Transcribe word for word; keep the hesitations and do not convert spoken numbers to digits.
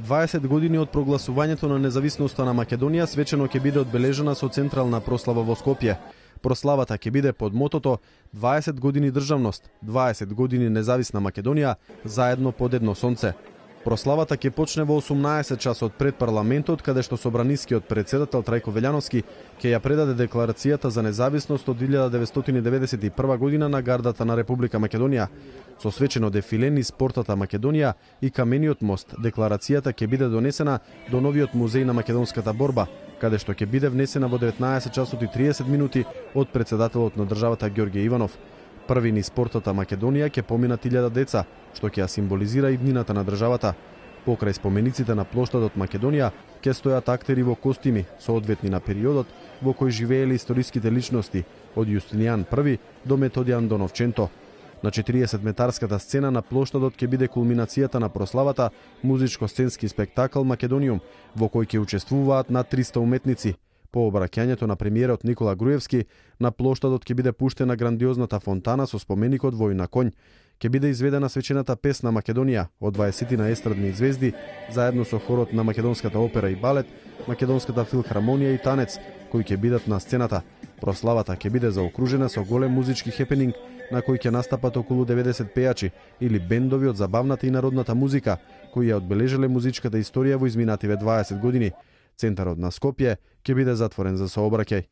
дваесет години од прогласувањето на независноста на Македонија свечено ќе биде одбележена со централна прослава во Скопје. Прославата ќе биде под мотото дваесет години државност, дваесет години независна Македонија, заедно под едно сонце. Прославата ќе почне во осумнаесет часот пред парламентот, каде што собранискиот председател Трајко Велјановски ќе ја предаде декларацијата за независност од илјада деветстотини деветдесет и прва година на гардата на Република Македонија. Со свечено дефиле низ портата Македонија и камениот мост, декларацијата ќе биде донесена до новиот музеј на македонската борба, каде што ќе биде внесена во деветнаесет часот и триесет минути од председателот на државата Ѓорѓе Иванов. Први низ портата Македонија ќе поминат илјада деца, што ќе ја символизира иднината на државата. Покрај спомениците на плоштадот Македонија ќе стојат актери во костими, соодветни на периодот во кој живееле историските личности, од Јустинијан Први до Методијан Доновченто. На четириесетметарската сцена на плоштадот ќе биде кулминацијата на прославата музичко-сценски спектакл Македониум, во кој ќе учествуваат над триста уметници. По обраќањето на премиерот Никола Груевски, на плоштадот ќе биде пуштена грандиозната фонтана со споменикот Вој на конј. Ќе биде изведена свечената песна Македонија од дваесетина естрадни звезди, заедно со хорот на Македонската опера и балет, Македонската филхармонија и танец, кои ќе бидат на сцената. Прославата ќе биде заокружена со голем музички хепенинг, на кој ќе настапат околу деветдесет пејачи или бендови од забавната и народната музика, кои ја одбележале музичката историја во изминативе дваесет години. Центарот на Скопје ќе биде затворен за сообраќај.